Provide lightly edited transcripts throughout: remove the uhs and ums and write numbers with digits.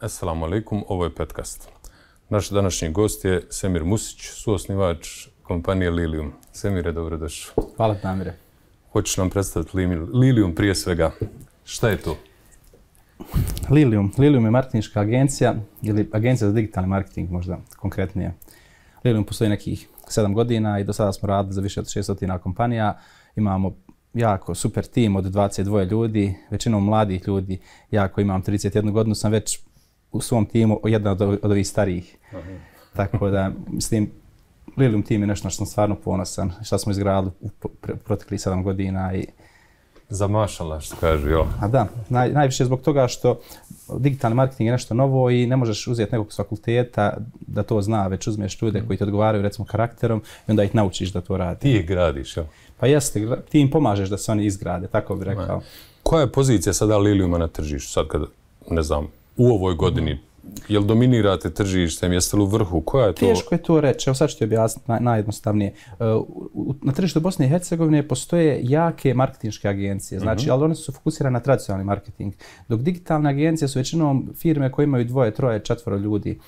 Assalamu alaikum, ovo je Petkast. Naš današnji gost je Semir Musić, suosnivač kompanije Lilium. Semire, dobrodošao. Hvala, Damire. Hoćeš nam predstaviti Lilium prije svega. Šta je to? Lilium je marketinška agencija ili agencija za digitalni marketing možda konkretnije. Lilium postoji nekih 7 godina i do sada smo radili za više od 600 kompanija. Imamo jako super tim od 22 ljudi, većinom mladih ljudi. Ja koji imam 31 godinu sam već u svom timu jedna od ovih starijih. Tako da, mislim, Lilium tim je nešto što sam stvarno ponosan, što smo izgradili u proteklih 7 godina. Zamašala, što kažu, jel? A da, najviše zbog toga što digitalni marketing je nešto novo i ne možeš uzeti nekog s fakulteta da to zna, već uzmeš ljude koji ti odgovaraju recimo karakterom i onda ih naučiš da to radi. Ti ih gradiš, jel? Pa jeste, ti im pomažeš da se oni izgrade, tako bih rekao. Koja je pozicija sada Liliuma na tržištu? Sad kad, ne znam, u ovoj godini, jel dominirate tržištem, jeste li u vrhu? Koja je to? Teško je to reći, evo sad ću ti objasniti najjednostavnije. Na tržištu Bosne i Hercegovine postoje jake marketinške agencije, znači, ali one su fokusirane na tradicionalni marketing, dok digitalne agencije su većinom firme koje imaju 2, 3, 4 ljudi.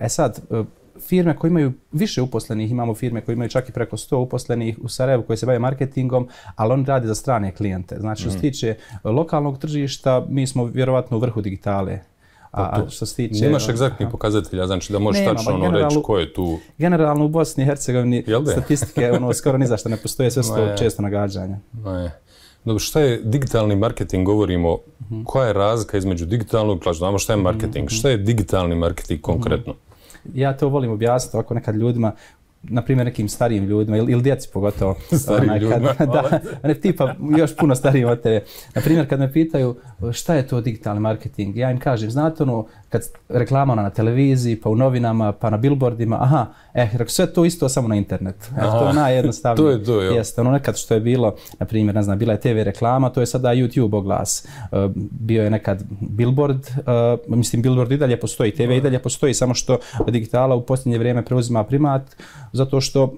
Sad, firme koje imaju više uposlenih, imamo firme koje imaju čak i preko 100 uposlenih u Sarajevu koji se bave marketingom, ali oni rade za strane klijente. Znači, što se tiče lokalnog tržišta, mi smo vjerovatno u vrhu digitale. Što se tiče... Nemaš egzaktnih pokazatelja, znači da možeš tačno reći ko je tu... Generalno u Bosni i Hercegovini statistike skoro ni zašto ne postoje, sve su to često nagađanja. Dobro, šta je digitalni marketing, govorimo, koja je razlika između digitalnog, znamo šta je marketing, šta je digitalni marketing konkretno? Ja to volim objasniti ovako nekad ljudima, na primjer nekim starijim ljudima ili djeci pogotovo. Starijim ljudima, da, ne tipa još puno starijim od tebe. Na primjer kad me pitaju šta je to digitalni marketing, ja im kažem, znate ono, kad reklama na televiziji, pa u novinama, pa na billboardima, sve to isto samo na internet. To je najjednostavnije. To je to, jel? Jeste, ono nekad što je bilo, na primjer, ne znam, bila je TV reklama, to je sada YouTube oglas. Bio je nekad billboard, mislim billboard i dalje postoji, TV i dalje postoji, samo što digitala u posljednje vrijeme preuzima primat, zato što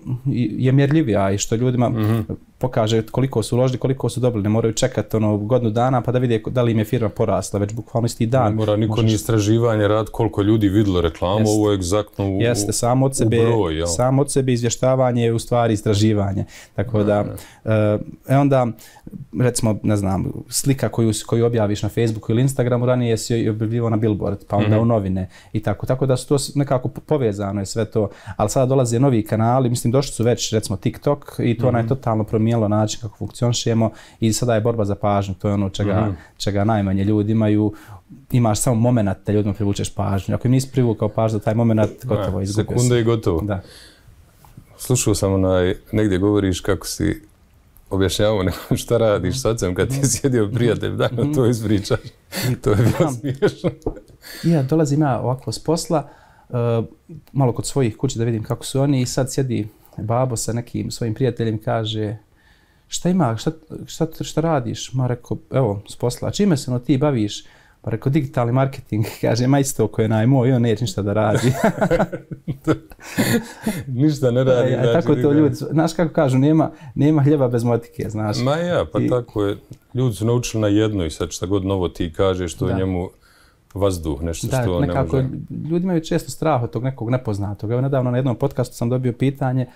je mjerljivija i što ljudima pokaže koliko su uložili, koliko su dobili. Ne moraju čekati godinu dana pa da vide da li im je firma porasla, već bukvalno isti dan. Ne mora niko ni istraživanje rad koliko ljudi vidjelo reklamu, ovo je egzaktno u Jeste, samo od sebe izvještavanje je u stvari istraživanje. Tako da, onda, recimo, ne znam, slika koju objaviš na Facebooku ili Instagramu, ranije si objavljivao na billboard, pa onda u novine i tako. Tako da su to nekako povezano je sve to, ali sada dolaze novi kanali, mislim došli su već, recimo, TikTok i to je totalno promijenilo način kako funkcionišemo i sada je borba za pažnju, to je ono čega najmanje ljudi imaju. Imaš samo moment da ljudima privučeš pažnju. Ako im nisi privukao pažnju, taj moment gotovo izgubio. Sekunda i gotovo. Da. Slušao sam negdje govoriš kako si objašnjavao nekom šta radiš s ocem kad ti je sjedio prijatelj, da to ispričaš. To je bilo smiješno. Ja dolazim ovako s posla, malo kod svojih kući da vidim kako su oni i sad sjedi babo sa nekim svojim prijateljem, kaže šta ima, šta radiš? Ma rekao, evo, s posla, čime se ti baviš? Pa rekao, digitalni marketing, kaže, ma isto ko je najmoj, on neće ništa da radi. Ništa ne radi. Tako to ljudi, znaš kako kažu, nema hljeba bez motike, znaš. Ma ja, pa tako je. Ljudi su naučili na jedno i sad šta god novo ti kažeš, to je njemu vazduh, nešto što ne može. Ljudi imaju često strah od tog nekog nepoznatog. Evo, nedavno na jednom podcastu sam dobio pitanje,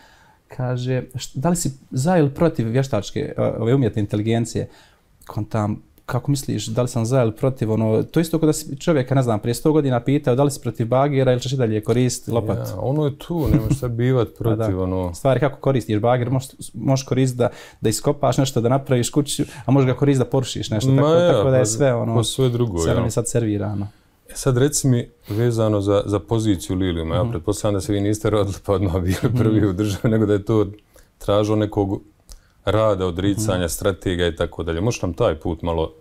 kaže, da li si za ili protiv vještačke umjetne inteligencije? Kontam, kako misliš, da li sam za ili protiv? To isto kada si čovjeka, ne znam, prije 100 godina pitao da li si protiv bagera ili ćeš i dalje koristiti lopat. Ja, ono je tu, nemaš šta bivat protiv. Stvari kako koristiš bager, možeš koristiti da iskopaš nešto, da napraviš kuću, a možeš ga koristiti da porušiš nešto. Tako da je sve sve drugo. Sve nam je sad servirano. Sad reci mi vezano za poziciju Liliuma, ja pretpostavljam da se vi niste rodili pa odmah bili prvi u državi, nego da je to tražilo nekog rada, odricanja, strategija i tako dalje. Možeš nam taj put malo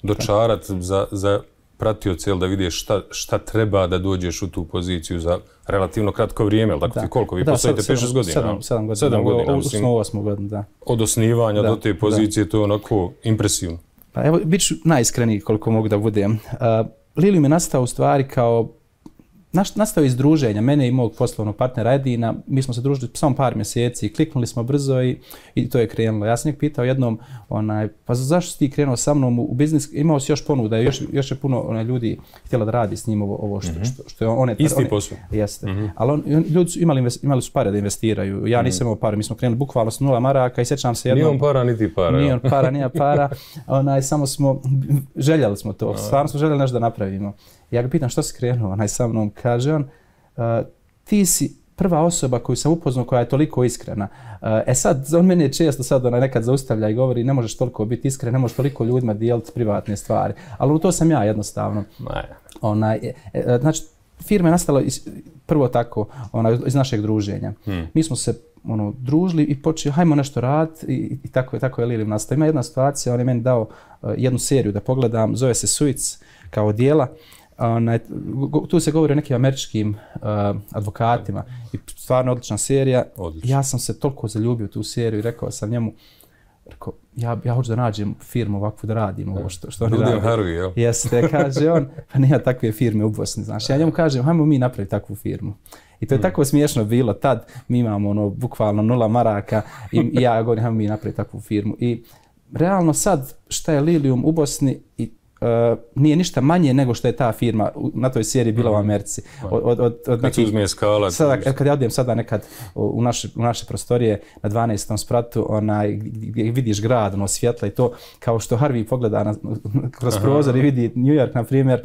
dočarati za pratioce, da vidiš šta treba da dođeš u tu poziciju za relativno kratko vrijeme, ali tako ti koliko? Vi postojite 5-6 godina? 7 godina. Odnosno 8 godina, da. Od osnivanja do te pozicije, to je onako impresivno. Pa evo, bit ću najiskreniji koliko mogu da budem. Lilium je nastao u stvari kao nastao iz druženja, mene i mog poslovnog partnera Edina, mi smo se družili samo par mjeseci, kliknuli smo brzo i to je krenulo. Ja sam njeg pitao jednom, pa zašto si ti krenuo sa mnom u biznis, imao si još ponuda, još je puno ljudi htjela da radi s njim ovo što je on... Isti posao. Jeste, ali ljudi su imali su pare da investiraju, ja nisam imao pare, mi smo krenuli bukvalno s 0 maraka i sjećam se jednom... Nije on para, niti para. Nije on para, nije para, samo smo, željeli smo to, stvarno smo željeli nešto da napravimo. Ja ga pitam što si krenuo, sa mnom, kaže on, ti si prva osoba koju sam upoznao koja je toliko iskrena. Sad, on mene često sad nekad zaustavlja i govori ne možeš toliko biti iskren, ne možeš toliko ljudima dijeliti privatne stvari. Ali to sam ja jednostavno. Znači, firma je nastala prvo tako, iz našeg druženja. Mi smo se družili i počeli, hajmo nešto raditi i tako je Lilijum nastao. Ima jedna situacija, on je meni dao jednu seriju da pogledam, zove se Suits kao dijela. Tu se govori o nekim američkim advokatima i stvarno odlična serija. Ja sam se toliko zaljubio u tu seriju i rekao sam njemu, ja hoću da nađem firmu ovakvu da radim ovo što oni radi. Harvey, jel? Jeste, kaže on, pa nema takve firme u Bosni, znaš. Ja njemu kažem, hajmo mi napraviti takvu firmu. I to je tako smiješno bilo. Tad mi imamo bukvalno 0 maraka i ja govorim, hajmo mi napraviti takvu firmu. I realno sad šta je Lilijum u Bosni i nije ništa manje nego što je ta firma na toj seriji bila u Americi. Kad se uzme skala. Kad ja odem sada nekad u naše prostorije na 12. spratu, gdje vidiš grad, svjetla i to, kao što Harvey pogleda kroz prozor i vidi New York, na primjer,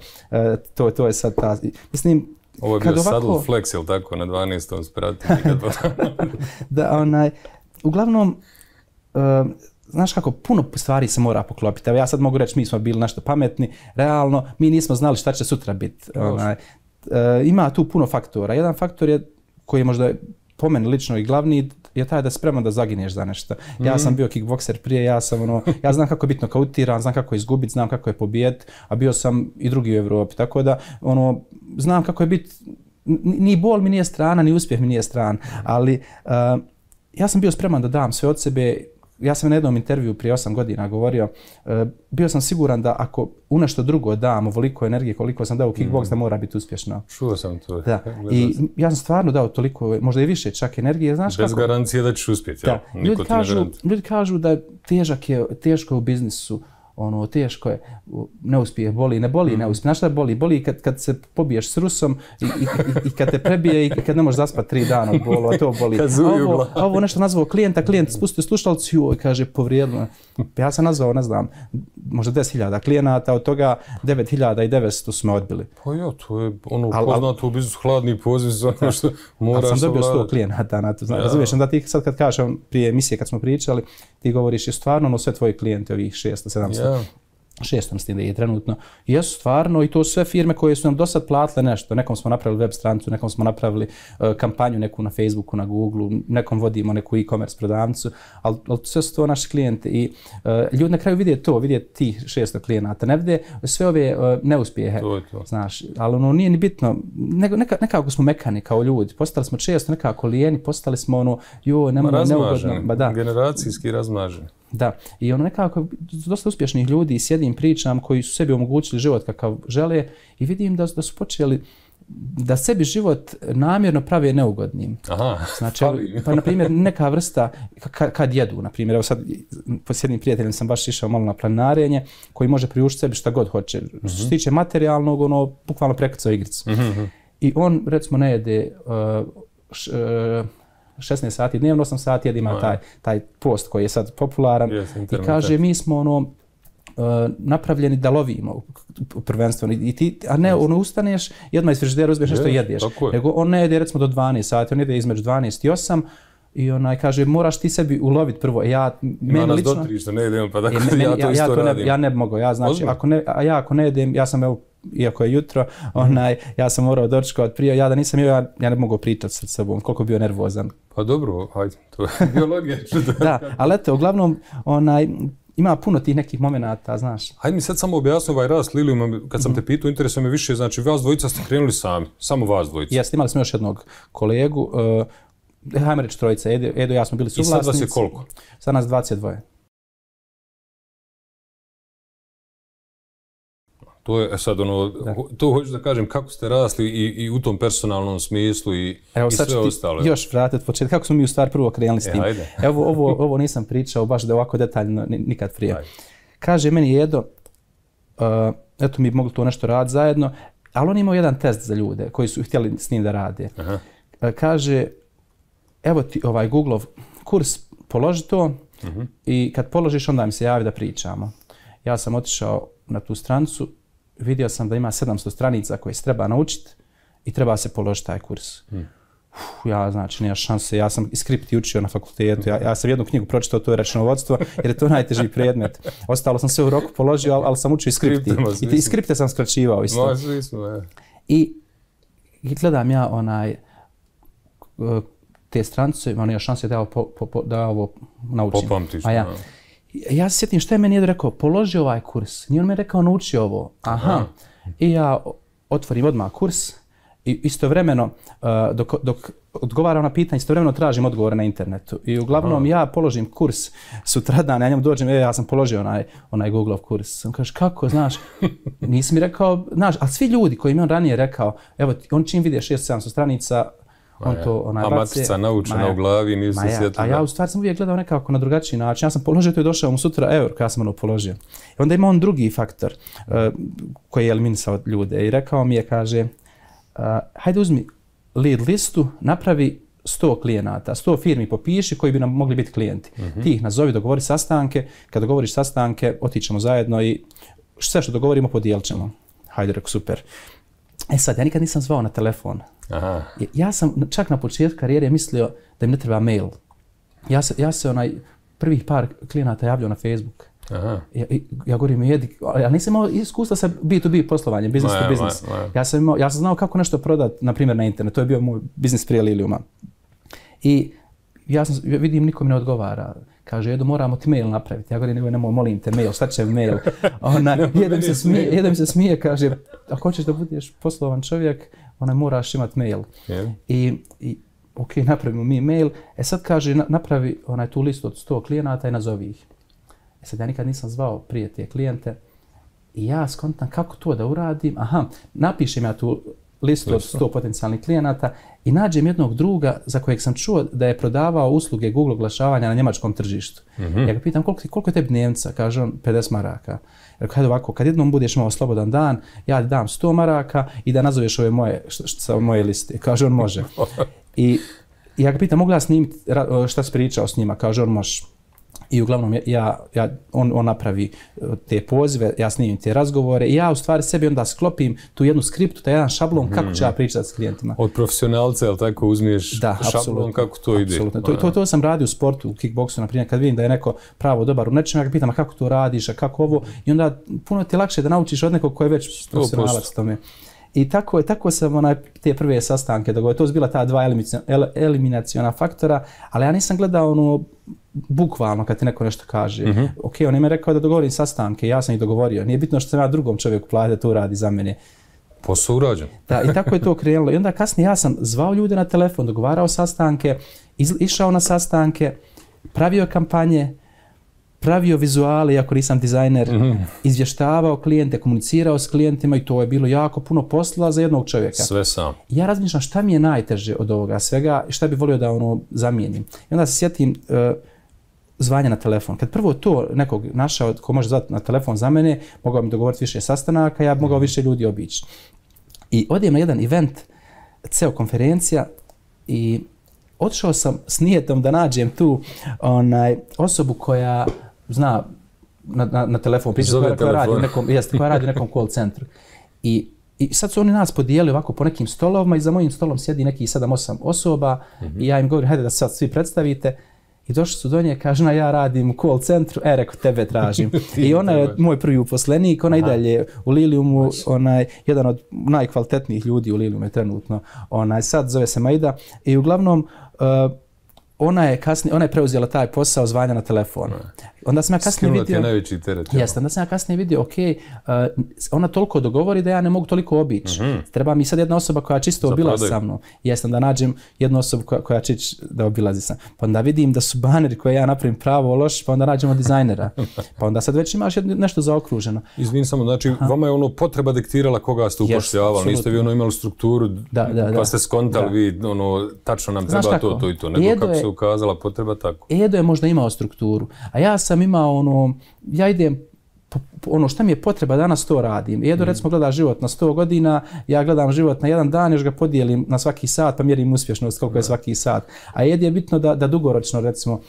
to je sad ta... Mislim, ovo je bio saddle flex, ili tako, na 12. spratu. Uglavnom, znaš kako, puno stvari se mora poklopiti. Evo ja sad mogu reći, mi smo bili nešto pametni, realno, mi nismo znali šta će sutra biti. Ima tu puno faktora. Jedan faktor je, koji je možda po meni lično i glavni, je taj da si spreman da zaginješ za nešto. Ja sam bio kickbokser prije, ja znam kako je biti nokautiran, znam kako je izgubiti, znam kako je pobijediti, a bio sam i drugi u Evropi. Tako da, znam kako je biti, ni bol mi nije strana, ni uspjeh mi nije stran, ali ja sam bio spreman da dam sve od sebe. Ja sam na jednom intervju prije 8 godina govorio, bio sam siguran da ako u nešto drugo dam ovoliko energije koliko sam dao u kickboks, da mora biti uspješno. Čuo sam to. Da. I ja sam stvarno dao toliko, možda i više čak energije. Znaš bez kako? Garancije da ćeš uspjeti. Da. Ljudi kažu da teško je u biznisu, teško je, neuspjeh boli, ne boli neuspjeh. Znaš šta boli? Boli kad se pobiješ s Rusom i kad te prebije i kad ne možeš zaspati 3 dana od bolu, a to boli. Ovo nešto nazvao klijent spustio slušalcu i kaže povrijedno. Ja sam nazvao, ne znam, možda 10.000 klijenata, od toga 9.900 su me odbili. Pa ja, to je poznato u biznisu, hladni poziv za ono što moraš ali sam dobio 100 klijenata na to. Razumiješ, da ti sad kad kažeš, prije emisije kad smo pričali, ti govoriš je stvarno sve tvoji klijenti, ovih 600-700. 600 s tim da je trenutno. Jesu stvarno i to sve firme koje su nam do sad platile nešto. Nekom smo napravili web stranicu, nekom smo napravili kampanju neku na Facebooku, na Googleu, nekom vodimo neku e-commerce prodavnicu, ali sve su to naši klijenti i ljudi na kraju vide tih 600 klijenata, ne vide sve ove neuspjehe. To. Znaš, ali nije ni bitno, nekako smo mekani kao ljudi, postali smo često nekako lijeni, postali smo neugodno. Generacijski razmaženi. Da, i nekako dosta uspješnih ljudi sjedim pričam koji su sebi omogućili život kakav žele i vidim da su počeli da sebi život namjerno prave neugodnim. Znači, pa na primjer neka vrsta kad jedu, na primjer, evo sad s jednim prijateljem sam baš išao malo na planinarenje koji može priuštiti sebi šta god hoće. Što se tiče materijalnog, bukvalno prekrcao igricu. I on recimo ne jede 16 sati dnevno, 8 sati ima taj post koji je sad popularan i kaže mi smo napravljeni da lovimo prvenstveno a ne ustaneš i odmah iz frižidera uzmeš nešto jedeš. Nego on ne jede recimo do 12 sati, on jede između 12 i 8 i kaže moraš ti sebi uloviti prvo. Ima nas do 3 što ne jedem pa dakle ja to isto radim. Ja ne bi mogao, ako ne jedem, ja sam iako je jutro, ja sam morao dočekati prije, ja da nisam jeo, ja ne bi mogao pričati sa sobom, koliko bio nervozan. Pa dobro, hajde, to je biologija. Da, ali eto, uglavnom, ima puno tih nekih momenata, znaš. Hajde mi sad samo objasni ovaj rast Lilijuma, kad sam te pitao, interesuje me više, znači vas dvojica ste krenuli sami, samo vas dvojica. Jeste, imali smo još jednog kolegu, hajmo reći trojica, Edo i ja smo bili suvlasnici. I sad vas je koliko? Sad nas 22. To je sad to hoću da kažem kako ste rasli i u tom personalnom smislu i sve ostalo. Još vratiti od početka, kako smo mi u stvari prvo krenuli s tim. Evo, ovo nisam pričao baš da ovako detaljno nikad prije. Kaže meni Edo, eto mi mogli to nešto raditi zajedno, ali on imao jedan test za ljude koji su htjeli s njim da rade. Kaže, evo ti ovaj Google-ov kurs, položi to i kad položiš onda mi se javi da pričamo. Ja sam otišao na tu stranicu, vidio sam da ima 700 stranica koje se treba naučiti i treba se položiti taj kurs. Ja, znači, nema šanse. Ja sam i skripti učio na fakultetu. Ja sam jednu knjigu pročitao, to je računovodstvo, jer je to najteži predmet. Ostalo sam sve u roku položio, ali sam učio i skripti. I skripte sam skraćivao isto. I gledam ja te stranice, imam ja šanse da ovo naučim. Popamtiš. Ja se sjetim šta je meni rekao, položi ovaj kurs. Nije on mi rekao nauči ovo. Aha. I ja otvorim odmah kurs i istovremeno, dok odgovaram na pitanje, istovremeno tražim odgovore na internetu. I uglavnom ja položim kurs sutradan, ja njemu dođem, ja sam položio onaj Google-ov kurs. On kaže, kako, znaš, nisi mi rekao, znaš, ali svi ljudi koji mi on ranije rekao, evo, on čim vide 600-700 stranica, on to baci. Matica naučena u glavi, nisi se sjetila. A ja u stvari sam uvijek gledao nekako na drugačiji način. Ja sam položio to i došao mu sutra euro kada sam položio. I onda ima on drugi faktor koji je eliminisao ljude i rekao mi je, kaže, hajde uzmi lead listu, napravi 100 klijenata, 100 firmi popiši koji bi nam mogli biti klijenti. Ti ih nazovi, dogovori sastanke, kad dogovoriš sastanke, otićemo zajedno i sve što dogovorimo podijelit ćemo. Hajde, rekao, super. E sad, ja nikad nisam zvao na telefon. Ja sam čak na početku karijere mislio da im ne treba mail. Ja se prvih par klijenata javljao na Facebook. Ja govorim, ja nisam imao iskustva sa B2B poslovanjem, business to business. Ja sam znao kako nešto prodati, na primjer na internet. To je bio moj biznis prije Liliuma. I ja vidim, nikom ne odgovara. Kaže, Edo, moramo ti mail napraviti. Ja govorim, nemoj, molim te, mail, šta će mail? Jedan mi se smije, kaže, ako hoćeš da budeš poslovan čovjek, moraš imati mail. I ok, napravimo mi mail. Sad kaže, napravi tu listu od 100 klijenata i nazovi ih. Sad ja nikad nisam zvao prije te klijente i ja skontam kako to da uradim. Napišem ja tu listu od 100 potencijalnih klijenata i nađem jednog druga za kojeg sam čuo da je prodavao usluge Google oglašavanja na njemačkom tržištu. Ja ga pitam koliko je tebi dnevnica? Kaže on 50 maraka. Rekao, hajde ovako, kad jednom budeš imao slobodan dan, ja ti dam 100 maraka i da nazoveš ove moje liste. Kaže on može. I ja ga pitam, mogu ja snimiti šta si pričao s njima? Kaže on može. I uglavnom on napravi te pozive, ja snimim te razgovore i ja u stvari sebi onda sklopim tu jednu skriptu, taj jedan šablon kako ću ja pričati s klijentima. Od profesionalca, jel tako, uzmiješ šablon kako to ide? Apsolutno. To sam radio u sportu, u kickboksu, na primjer, kad vidim da je neko pravo dobar u nečem, ja ga pitam kako to radiš, a kako ovo, i onda puno ti je lakše da naučiš od nekog koji je već profesionalac tome. I tako sam te prve sastanke dogovorio. To su bila ta dva eliminaciona faktora, ali ja nisam gledao bukvalno kad ti neko nešto kaže. Ok, on je mi rekao da dogovorim sastanke, ja sam ih dogovorio. Nije bitno što sam ja drugom čovjeku platio da to radi za mene. Posao urađen. Da, i tako je to krenulo. I onda kasnije ja sam zvao ljude na telefon, dogovarao sastanke, išao na sastanke, pravio kampanje, pravio vizuale, iako nisam dizajner, izvještavao klijente, komunicirao s klijentima i to je bilo jako puno posla za jednog čovjeka. Sve sam. Ja razmišljam šta mi je najteže od ovoga svega i šta bih volio da zamijenim. I onda se sjetim zvanja na telefon. Kad prvo to nekog našao ko može zvati na telefon za mene, mogao mi dogovoriti više sastanaka, ja bi mogao više ljudi obići. I odijem na jedan event, CEO konferencija i otišao sam s nijetom da nađem tu osobu koja zna na telefon pričati, koja radi u nekom call centru. I sad su oni nas podijeli ovako po nekim stolovima i za mojim stolom sjedi nekih 7-8 osoba i ja im govorim, hajde da se sad svi predstavite. I došli su do nje, kaže, ja radim u call centru, rekao, tebe tražim. I ona je moj prvi uposlenik, ona i dalje u Liliumu, jedan od najkvalitetnijih ljudi u Liliumu je trenutno. Sad zove se Maida i uglavnom ona je preuzela taj posao zvanja na telefon. Onda sam ja kasnije vidio... Skinula ti najveći teret. Jeste, onda sam ja kasnije vidio, ona toliko dogovori da ja ne mogu toliko obići. Treba mi sad jedna osoba koja čisto obilazi sa mnom. Jeste, onda nađem jednu osobu koja će da obilazi sa mnom. Pa onda vidim da su baneri koje ja napravim pravo loši, pa onda nađemo dizajnera. Pa onda sad već imaš nešto zaokruženo. Izvini samo, znači vama je potreba diktirala koga ste upošljavali, niste vi imali strukturu, pa ste skontali vi, tačno nam treba to i to, nego kako se ukazala potreba tako. Edo je možda imao strukturu, a ja sam imao ja idem, šta mi je potreba danas to radim. Edo recimo gleda život na 100 godina, ja gledam život na jedan dan, još ga podijelim na svaki sat, pa mjerim uspješnost koliko je svaki sat. A Edi je bitno da dugoročno recimo,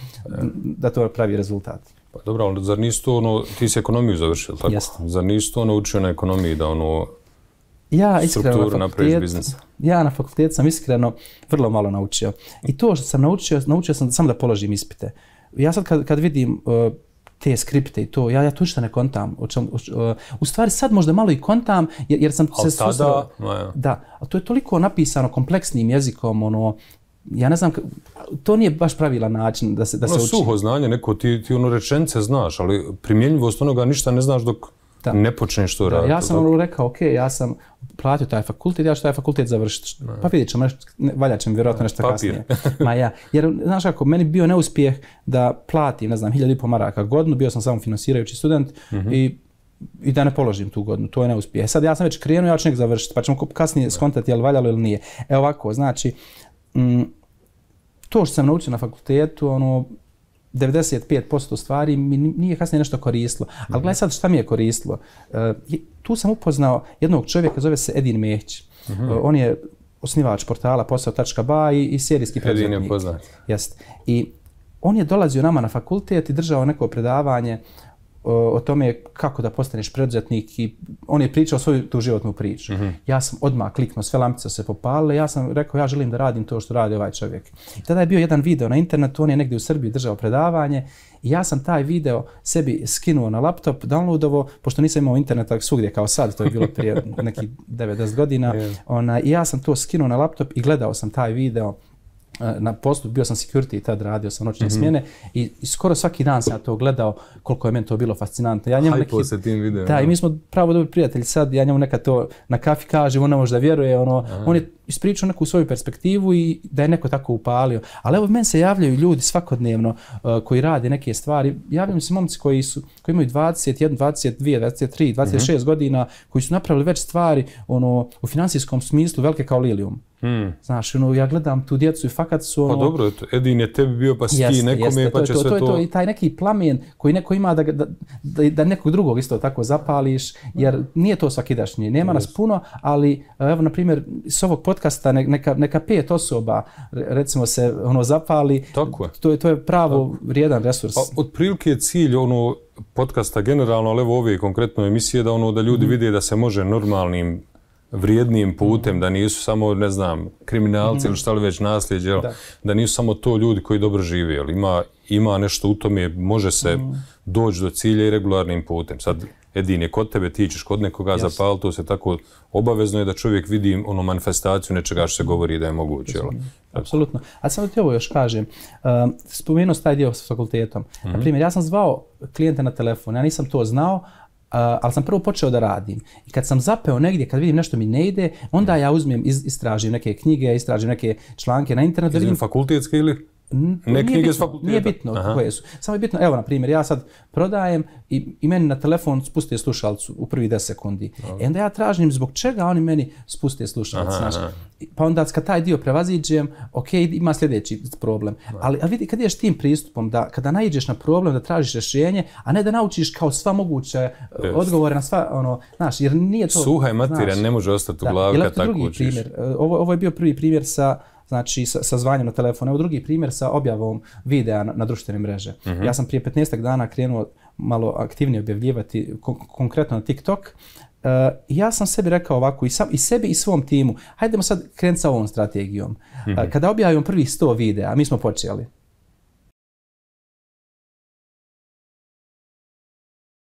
da to pravi rezultat. Pa dobro, ali zar nisi to ti si ekonomiju završio, tako? Jeste. Zar nisi to učio na ekonomiji da strukturu napraviš biznisa? Ja na fakultetu sam iskreno vrlo malo naučio. I to što sam naučio sam samo da položim ispite. Ja sad kad vidim te skripte i to, ja to ništa ne kontam. U stvari sad možda malo i kontam jer sam se susreo. Da, ali to je toliko napisano kompleksnim jezikom, ja ne znam, to nije baš pravilan način da se uči. Suho znanje, neko ti rečenice znaš, ali primjenjivost onoga ništa ne znaš dok ne počneš to raditi. Ja sam rekao, ja sam platio taj fakultet, ja ću taj fakultet završiti. Pa vidjet ćemo, valja će mi vjerojatno nešto kasnije. Jer, znaš kako, meni bio neuspjeh da platim, 1.500 maraka godinu, bio sam samo finansirajući student i da ne položim tu godinu, to je neuspjeh. Sad ja sam već krenuo, ja ću nek završiti, pa ćemo kasnije skontati je li valjalo ili nije. Evo ovako, znači, to što sam naučio na fakultetu, 95% stvari mi nije kasnije nešto koristilo. Ali gledaj sad šta mi je koristilo. Tu sam upoznao jednog čovjeka, zove se Edin Mehić. On je osnivač portala posao.ba i serijski preduzetnik. Edin je poznat. Jest. I on je dolazio nama na fakultet i držao neko predavanje o tome kako da postaneš preduzetnik i on je pričao svoju tu životnu priču. Ja sam odmah kliknuo, sve lampice se popalile, ja sam rekao ja želim da radim to što radi ovaj čovjek. I tada je bio jedan video na internetu, on je negdje u Srbiji držao predavanje i ja sam taj video sebi skinuo na laptop, downloadovo, pošto nisam imao interneta svugdje kao sad, to je bilo prije nekih 9-10 godina. I ja sam to skinuo na laptop i gledao sam taj video na poslu, bio sam security i tad radio sam noćne smjene i skoro svaki dan sam to gledao koliko je meni to bilo fascinantno. Hajpo se tim videom. Da, i mi smo pravo dobri prijatelji sad, ja njemu nekad to na kafi kažem, on ne može da vjeruje, on je ispričao neku svoju perspektivu i da je neko tako upalio. Ali evo, meni se javljaju ljudi svakodnevno koji rade neke stvari, javljaju se momci koji imaju 21, 22, 23, 26 godina, koji su napravili već stvari u financijskom smislu velike kao Lilium. Znaš, ja gledam tu djecu i fakat su Pa dobro, Edin je tebi bio pa si ti nekome pa će sve to... I taj neki plamen koji neko ima da nekog drugog isto tako zapališ, jer nije to svakidašnje, nema nas puno, ali evo na primjer s ovog podcasta neka 5 osoba recimo se zapali, to je pravo vrijedan resurs. Otprilike je cilj podcasta generalno, ali evo ove konkretno emisije da ljudi vide da se može normalnim vrijednim putem, da nisu samo, ne znam, kriminalci ili šta li već nasljeđe, da nisu samo to ljudi koji dobro žive, ali ima nešto u tome, može se doći do cilja i regularnim putem. Sad, Edin je kod tebe, ti ćeš kod nekoga zapaliti, to se tako obavezno je da čovjek vidi manifestaciju nečega što se govori da je moguće. Apsolutno. A samo ti ovo još kažem, spomenuo taj dio s fakultetom. Naprimjer, ja sam zvao klijente na telefon, ja nisam to znao, ali sam prvo počeo da radim. I kad sam zapeo negdje, kad vidim nešto mi ne ide, onda ja uzmem, istražim neke knjige, istražim neke članke na internetu. Izvim fakultetske ili? Ne knjige s fakulteta? Nije bitno koje su. Samo je bitno, evo na primjer, ja sad prodajem i meni na telefon spuste slušalcu u prvi 10 sekundi. I onda ja tražim zbog čega oni meni spuste slušalcu. Pa onda kad taj dio prevaziđem, ima sljedeći problem. Ali vidi, kad ideš tim pristupom, da kada naiđeš na problem, da tražiš rješenje, a ne da naučiš kao sva moguće odgovore na sva, znaš, jer nije to... Suha je materija, ne može ostati u glavi kad tako učiš. Ovo je bio prvi primjer sa zvanjem na telefon. Evo drugi primjer sa objavom videa na društvene mreže. Ja sam prije 15 dana krenuo malo aktivnije objavljivati, konkretno na TikTok. Ja sam sebi rekao ovako i sebi i svom timu, hajdemo sad krenuti sa ovom strategijom. Kada objavimo prvih 100 videa, mi smo počeli.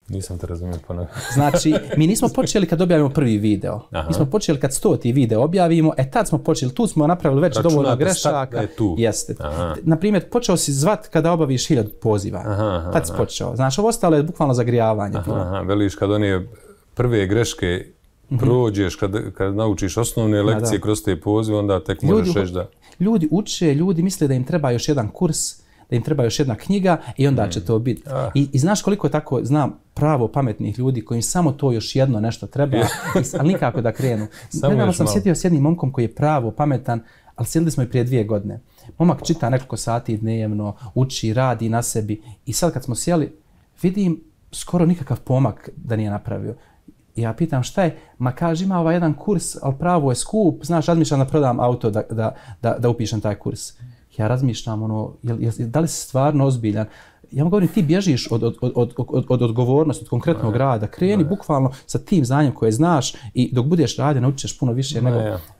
Nisam te razumio ponovno. Znači, mi nismo počeli kad objavimo prvi video. Mi smo počeli kad 100. video objavimo, tad smo počeli, tu smo napravili već dovoljno grešaka. Jeste. Naprimjer, počeo si zvat kada obaviš 1000 poziva. Tad si počeo. Znači, ovo ostalo je bukvalno zagrijavanje. Veliš kad one prve greške prođeš, kad naučiš osnovne lekcije kroz te pozive, onda tek možeš reći da... Ljudi uče, ljudi misle da im treba još jedan kurs, da im treba još jedna knjiga i onda će to biti. I znaš koliko tako znam pravo pametnih ljudi kojim samo to još jedno nešto treba, ali nikako da krenu. Nedavno sam sjetio s jednim momkom koji je pravo pametan, ali sjedili smo i prije 2 godine. Momak čita nekoliko sati dnevno, uči, radi na sebi i sad kad smo sjeli, vidim skoro nikakav pomak da nije napravio. Ja pitam šta je, ma kaže ima ovaj jedan kurs, ali pravo je skup, znaš, razmišljam da prodam auto da upišem taj kurs. Ja razmišljam, da li si stvarno ozbiljan? Ja mu govorim, ti bježiš od odgovornosti, od konkretnog rada. Kreni bukvalno sa tim znanjem koje znaš i dok budeš radio naučiš puno više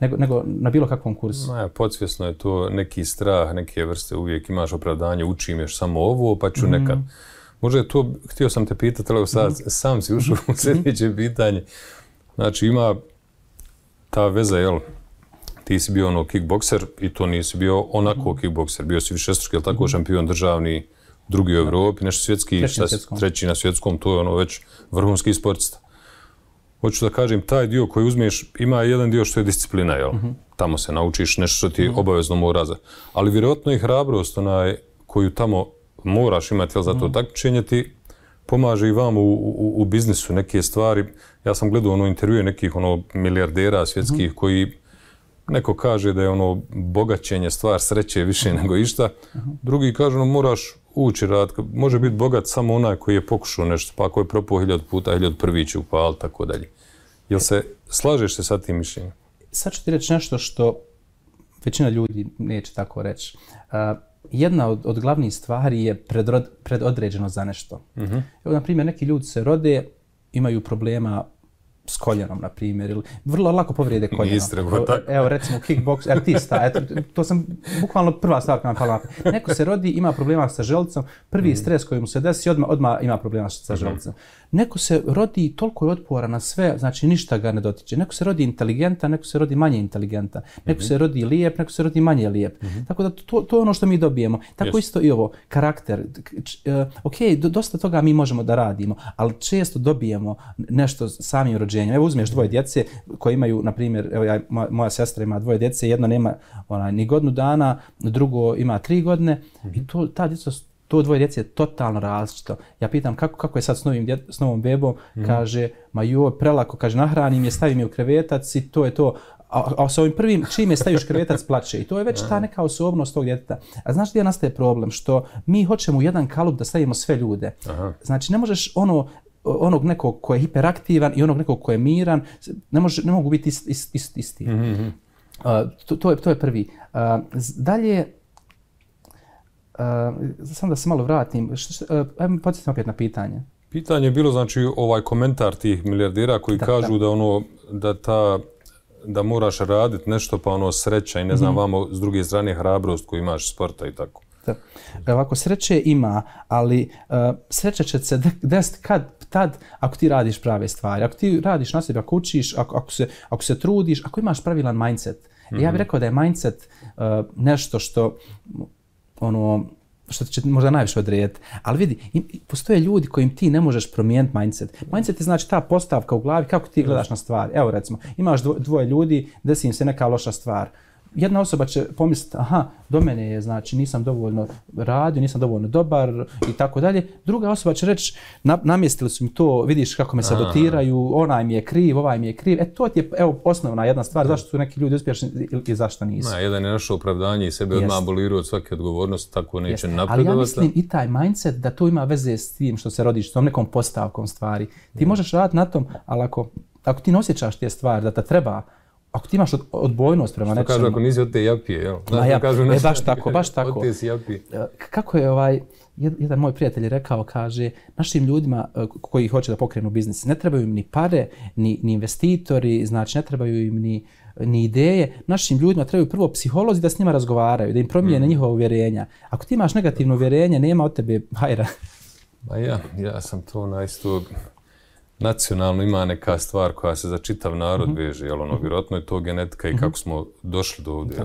nego na bilo kakvom kursu. Podsvjesno je to neki strah, neke vrste, uvijek imaš opravdanje, učim još samo ovo, pa ću nekad. Možda je to, htio sam te pitati, ali sad sam si ušao u sljedeće pitanje. Znači ima ta veza, jel? Ti si bio kickbokser i to nisi bio onako kickbokser. Bio si višestruki, jel tako, šampion državni, drugi u Evropi, nešto svjetski, treći na svjetskom, to je već vrhunski sportista. Hoću da kažem, taj dio koji uzmeš, ima jedan dio što je disciplina, jel? Tamo se naučiš nešto što ti obavezno mora. Ali vjerojatno i hrabrost koju tamo moraš imati, jel, za to takmičenje ti pomaže i vam u biznisu neke stvari. Ja sam gledao intervjue nekih milijardera svjetskih koji neko kaže da je bogaćenje stvar sreće više nego išta. Drugi kažu moraš ući rad. Može biti bogat samo onaj koji je pokušao nešto, pa ako je propao 1000 puta, 1001 će upaliti, tako dalje. Jel se slažeš se sa tim mišljenjem? Sad ću ti reći nešto što većina ljudi neće tako reći. Jedna od glavnih stvari je predodređeno za nešto. Evo, na primjer, neki ljudi se rode, imaju problema s koljenom, na primjer, ili vrlo lako povrijede koljeno. Evo, recimo, kickboks, artista, to sam bukvalno prva stavka nam pala. Neko se rodi, ima problema sa želucom, prvi stres koji mu se desi, odmah ima problema sa želucom. Neko se rodi toliko je otpora na sve, znači ništa ga ne dotiče. Neko se rodi inteligentan, neko se rodi manje inteligentan. Neko se rodi lijep, neko se rodi manje lijep. Tako da to je ono što mi dobijemo. Tako isto i ovo, karakter. Ok, dosta toga mi možemo da radimo, ali često dobijemo nešto samim rođenjem. Evo uzmeš 2 djece koje imaju, na primjer, evo moja sestra ima 2 djece, jedno nema ni godinu dana, drugo ima 3 godine i ta djeca, to 2 djece je totalno različito. Ja pitam kako je sad s novom bebom, kaže, ma joj, prelako, kaže, nahranim je, stavim je u krevetac i to je to. A sa ovim prvim, čim je staviš krevetac, plače. I to je već ta neka osobnost tog djeteta. A znaš gdje nastaje problem? Što mi hoćemo u jedan kalup da stavimo sve ljude. Znači, ne možeš onog nekog ko je hiperaktivan i onog nekog ko je miran, ne mogu biti isti. To je prvi. Dalje, samo da se malo vratim, podsjetim opet na pitanje. Pitanje je bilo, znači, ovaj komentar tih milijardera koji kažu da moraš raditi nešto, pa sreća i ne znam, vamo s druge strane hrabrost koju imaš sporta i tako. Ovako, sreće ima, ali sreća će se desiti tad ako ti radiš prave stvari. Ako ti radiš na sebi, ako učiš, ako se trudiš, ako imaš pravilan mindset. Ja bih rekao da je mindset nešto što će možda najviše odrediti. Ali vidi, postoje ljudi kojim ti ne možeš promijeniti mindset. Mindset je znači ta postavka u glavi kako ti gledaš na stvari. Evo recimo, imaš 2 ljudi, desi im se neka loša stvar. Jedna osoba će pomisliti, aha, do mene je, znači, nisam dovoljno radio, nisam dovoljno dobar i tako dalje. Druga osoba će reći, namjestili su mi to, vidiš kako me sabotiraju, onaj mi je kriv, ovaj mi je kriv. To ti je, evo, osnovna jedna stvar, zašto su neki ljudi uspješni i zašto nisu. Jedan je našao opravdanje i sebe odmah abolirao od svake odgovornosti, tako neće napredovati. Ali ja mislim i taj mindset da to ima veze s tim što se rodiš, s tom nekom postavkom stvari. Ti možeš raditi na tom, ali ako ti ne osjećaš te stvari, da te treba, ako ti imaš odbojnost prema nečemu... Što kažu, ako nisi od te japije, jel? Baš tako. Od te si japije. Kako je jedan moj prijatelj rekao, kaže, našim ljudima koji hoće da pokrenu biznis, ne trebaju im ni pare, ni investitori, znači ne trebaju im ni ideje. Našim ljudima trebaju prvo psiholozi da s njima razgovaraju, da im promijene njihova uvjerenja. Ako ti imaš negativno uvjerenje, nema od tebe hajra. Ja sam to isto nacionalno ima neka stvar koja se za čitav narod veže, vjerojatno je to genetika i kako smo došli do ovdje,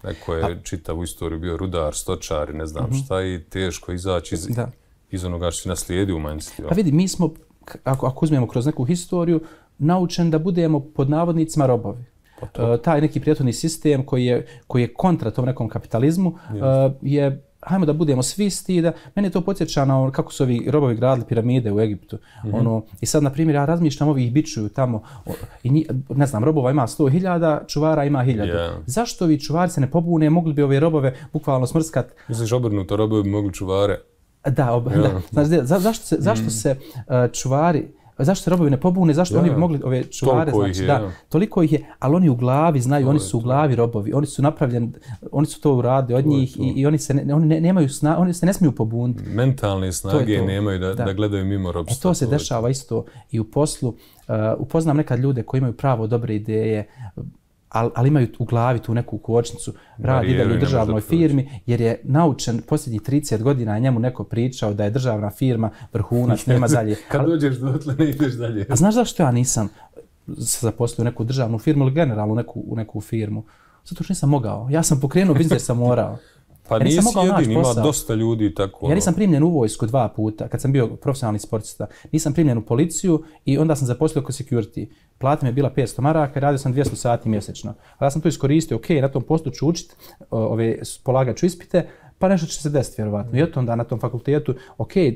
Neko je čitavu istoriju bio rudar, stočar i ne znam šta i teško izaći iz onoga što si naslijedio u manjstvu. A vidi, mi smo, ako uzmemo kroz neku historiju, naučeni da budemo pod navodnicima robovi. Taj neki prethodni sistem koji je kontra tom nekom kapitalizmu je, hajmo da budemo svi isti, da mene to podsjeća na kako su ovi robovi gradili piramide u Egiptu. I sad, na primjer, ja razmišljam, ovih bičuju tamo, i ne znam, robova ima 100.000, čuvara ima 1.000. Zašto ovi čuvari se ne pobune, mogli bi ove robove bukvalno smrskat? Misliš obrnuto, robovi bi mogli čuvare? Da. Znači, zašto se čuvari, zašto se robovi ne pobune, zašto oni bi mogli ove čuvare, toliko ih je, ali oni u glavi znaju, oni su u glavi robovi, oni su napravljeni, oni su to uradili od njih i oni se ne smiju pobuniti. Mentalne snage nemaju da gledaju mimo robstva. To se dešava isto i u poslu. Upoznam nekad ljude koji imaju pravo dobre ideje, ali imaju u glavi tu neku kočnicu, radi dalje u državnoj firmi, jer je naučen posljednjih 30 godina, njemu neko pričao da je državna firma vrhunac, nema dalje. Kad dođeš dotle, ne ideš dalje. A znaš zašto ja nisam se zaposlio u neku državnu firmu ili generalno u neku firmu? Zato što nisam mogao. Ja sam pokrenuo biznis jer sam morao. Pa nisi jedin, ima dosta ljudi tako. Ja nisam primljen u vojsku 2 puta, kad sam bio profesionalni sportista. Nisam primljen u policiju i onda sam zaposlio kao security. Plata mi je bila 500 maraka i radio sam 200 sati mjesečno. Ali ja sam to iskoristio, na tom poslu ću učiti, polagat ću ispite, pa nešto će se desiti vjerovatno. I od onda na tom fakultetu,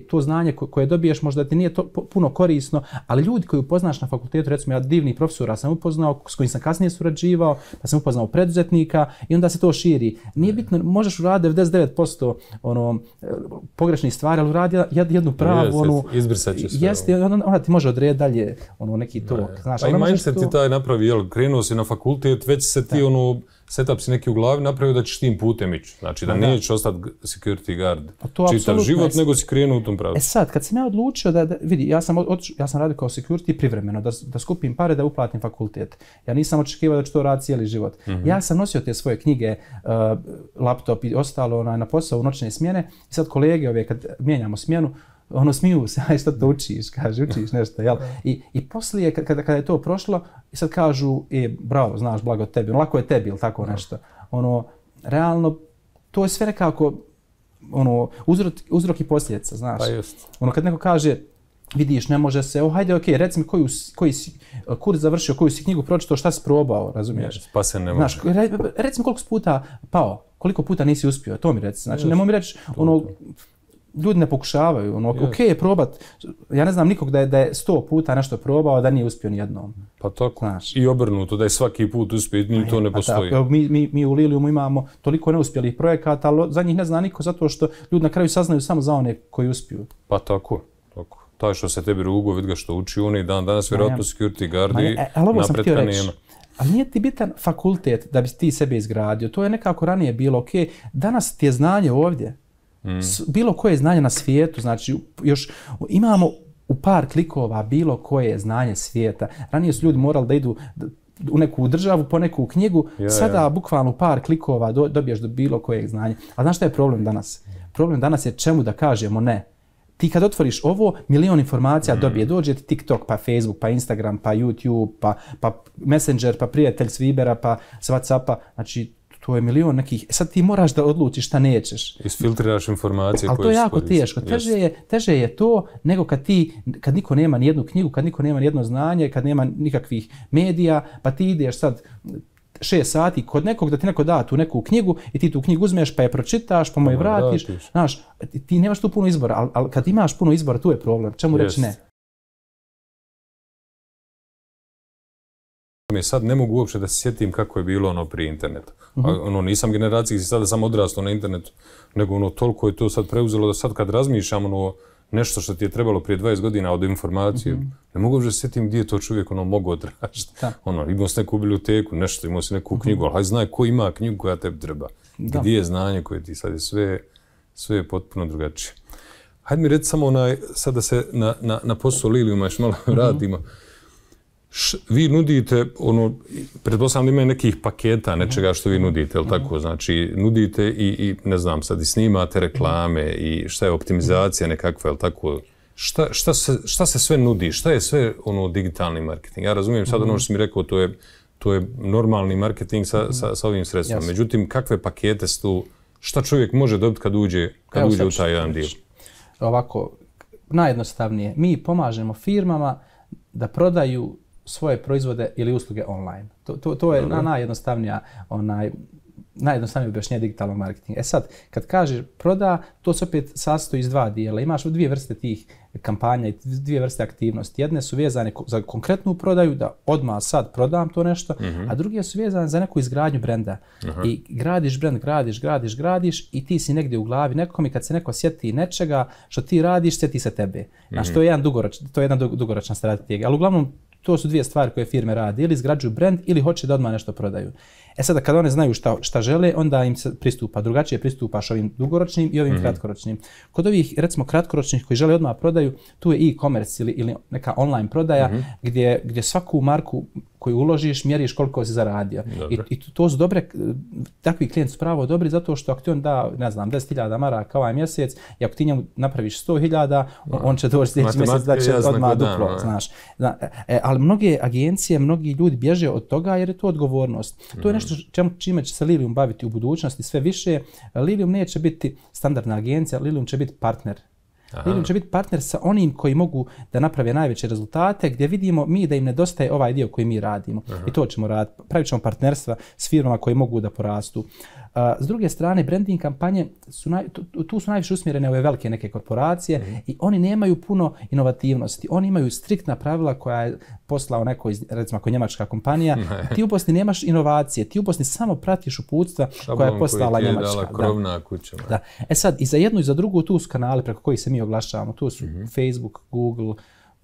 to znanje koje dobiješ možda ti nije puno korisno, ali ljudi koji upoznaš na fakultetu, recimo ja divnih profesora sam upoznao, s kojim sam kasnije surađivao, pa sam upoznao preduzetnika i onda se to širi. Nije bitno, možeš uraditi 99% pogrešnih stvari, ali uradi jednu pravu, izbrisat će sve. Jeste, onda ti može odrediti dalje neki tok. Znaš, i mindset ti taj napravi, krenuo si na fakultet, već se ti setup si neki u glavi napravio da ćeš tim putem ići. Znači da nećeš ostati security guard čitav život, nego si krenuo u tom pravcu. Sad, kad sam ja odlučio vidi, ja sam radio kao security privremeno, da skupim pare da uplatim fakultet. Ja nisam očekivao da ću to raditi cijeli život. Ja sam nosio te svoje knjige, laptop i ostalo na posao u noćne smjene i sad kolege kad mijenjamo smjenu, smiju se, aj što to učiš, kaže, učiš nešto, jel? I poslije, kada je to prošlo, i sad kažu, bravo, znaš, blago tebi, lako je tebi, ili tako nešto. Realno, to je sve nekako, uzrok i posljedica, znaš. Pa just. Kad neko kaže, vidiš, ne može se, hajde, reci mi koji si kurs završio, koju si knjigu pročitao, šta si probao, razumiješ? Pa se ne može. Znaš, reci mi koliko si puta pao, koliko puta nisi uspio, to mi reci. Znači, nemoj mi reći, ljudi ne pokušavaju, je probat. Ja ne znam nikog da je 100 puta nešto probao, da nije uspio nijednom. Pa tako. Znaš. I obrnuto, da je svaki put uspio, to ne postoji. Mi u Liliumu imamo toliko neuspjelih projekata, ali za njih ne zna niko zato što ljudi na kraju saznaju samo za one koji uspiju. Pa tako. Taj što se tebi rugo, vidi ga što uči oni dan danas, vjerojatno security guardi, napretka nema. Ali nije ti bitan fakultet da bi ti sebe izgradio. To je nekako ranije bilo, danas ti je znanje ovdje. Bilo koje znanje na svijetu, znači još imamo u par klikova bilo koje znanje svijeta. Ranije su ljudi morali da idu u neku državu po neku knjigu, sada bukvalno u par klikova dobiješ do bilo kojeg znanja. A znaš šta je problem danas? Problem danas je čemu da kažemo ne. Ti kad otvoriš ovo, milion informacija dođe ti TikTok, pa Facebook, pa Instagram, pa YouTube, pa Messenger, pa prijatelj s Vibera, pa s Whatsappa, znači to je milion nekih, sad ti moraš da odlučiš šta nećeš. Isfiltriraš informacije koje se koriste. Ali to je jako teško. Teže je to nego kad niko nema nijednu knjigu, kad niko nema nijedno znanje, kad nema nikakvih medija, pa ti ideš sad 6 sati kod nekog da ti neko da tu neku knjigu i ti tu knjigu uzmeš pa je pročitaš pa mu je vratiš. Znaš, ti nemaš tu puno izbora, ali kad imaš puno izbora tu je problem. Čemu reći ne? Sad ne mogu uopće da se sjetim kako je bilo prije interneta. Nisam generacijski sada sam odrastao na internetu, nego toliko je to sad preuzelo da sad kad razmišljam nešto što ti je trebalo prije 20 godina od informacije, ne mogu uopće se sjetim gdje je to čovjek mogao tražiti. Imao si neku biblioteku, nešto, imao si neku knjigu, ali hajde znaj ko ima knjigu koja tebi treba. Gdje je znanje koje ti sad je sve je potpuno drugačije. Hajde mi reći samo sad da se na posao Liliuma još malo vratimo. Vi nudite, pretpostavljam da ima nekih paketa nečega što vi nudite, jel tako? Znači, nudite i ne znam, sad i snimate reklame i šta je optimizacija nekakva, jel tako? šta se sve nudi, šta je sve digitalni marketing? Ja razumijem sad ono što si mi rekao, to je normalni marketing sa ovim sredstvima. Međutim, kakve pakete su tu, šta čovjek može dobiti kad uđe u taj jedan dio? Ovako, najjednostavnije, mi pomažemo firmama da prodaju svoje proizvode ili usluge online. To je najjednostavnije objašnjenje digitalnog marketinga. Sad, kad kažeš proda, to se opet sastoji iz dva dijela. Imaš dvije vrste tih kampanja i dvije vrste aktivnosti. Jedne su vezane za konkretnu prodaju, da odmah sad prodam to nešto, a druge su vezane za neku izgradnju brenda. I gradiš brend, gradiš i ti si negdje u glavi nekom i kad se neko sjeti nečega što ti radiš, sjeti se tebe. Znači, to je jedna dugoročna strategija. Ali uglavnom, to su dvije stvari koje firme rade. Ili izgrađuju brend ili hoće da odmah nešto prodaju. Sada kad one znaju šta žele, onda im se pristupa. Drugačije pristupaš ovim dugoročnim i ovim kratkoročnim. Kod ovih, recimo, kratkoročnih koji žele odmah prodaju, tu je e-commerce ili neka online prodaja gdje svaku marku koju uložiš, mjeriš koliko si zaradio. I to su dobre, takvi klijenti su pravo dobri zato što ako ti on da, ne znam, 10.000 maraka ovaj mjesec i ako ti njemu napraviš 100.000, on će doći sljedeći mjesec da će odmah duplo, znaš. Ali mnoge agencije, mnogi ljudi bježe od toga jer je to odgovornost. To je nešto čime će se Lilium baviti u budućnosti sve više. Lilium neće biti standardna agencija, Lilium će biti partner. Lilium će biti partner sa onim koji mogu da naprave najveće rezultate, gdje vidimo mi da im nedostaje ovaj dio koji mi radimo. I to ćemo raditi. Pravit ćemo partnerstva s firmama koji mogu da porastu. S druge strane, branding kampanje tu su najviše usmjerene ove velike neke korporacije i oni nemaju puno inovativnosti. Oni imaju striktna pravila koja je poslao neko, recimo ako je njemačka kompanija. Ti uposli nemaš inovacije, ti uposli samo pratiš uputstva koja je poslala njemačka. Krovna kuća. Da. Sad, i za jednu i za drugu tu su kanali preko kojih se mi oglašavamo. Tu su Facebook, Google,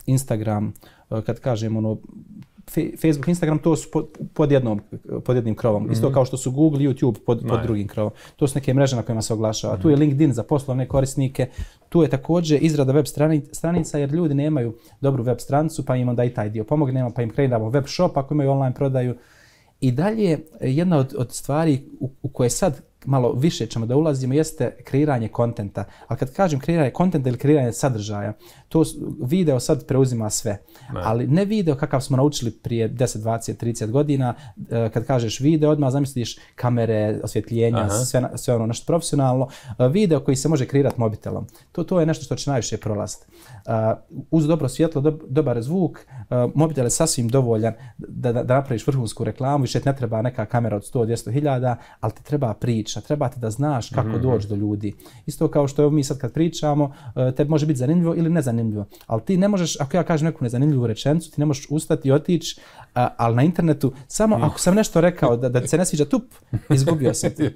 Instagram, kad kažemo Facebook, Instagram, to su pod jednim krovom. Isto kao što su Google i YouTube pod drugim krovom. To su neke mreže na kojima se oglašava. Tu je LinkedIn za poslovne korisnike. Tu je također izrada web stranica jer ljudi nemaju dobru web stranicu pa im onda i taj dio pomognemo pa im kreiramo web shop ako imaju online prodaju. I dalje, jedna od stvari u koje sad malo više ćemo da ulazimo jeste kreiranje kontenta. Ali kad kažem kreiranje kontenta ili kreiranje sadržaja, to video sad preuzima sve. Ali ne video kakav smo naučili prije 10, 20, 30 godina. Kad kažeš video, odmah zamisliš kamere, osvjetljenja, sve ono nešto profesionalno. Video koji se može kreirati mobitelom. To je nešto što će najviše prolaziti. Uz dobro svjetlo, dobar zvuk, mobitel je sasvim dovoljan da napraviš vrhunsku reklamu. Više ne treba neka kamera od 100-200 hiljada, ali ti treba priča. Treba ti da znaš kako doći do ljudi. Isto kao što mi sad kad pričamo, tebi može biti zanimljivo ili nezanimljivo. Ali ti ne možeš, ako ja kažem neku nezanimljivu rečenicu, ti ne možeš ustati i otići, ali na internetu, samo ako sam nešto rekao da ti se ne sviđa, izgubio sam ti.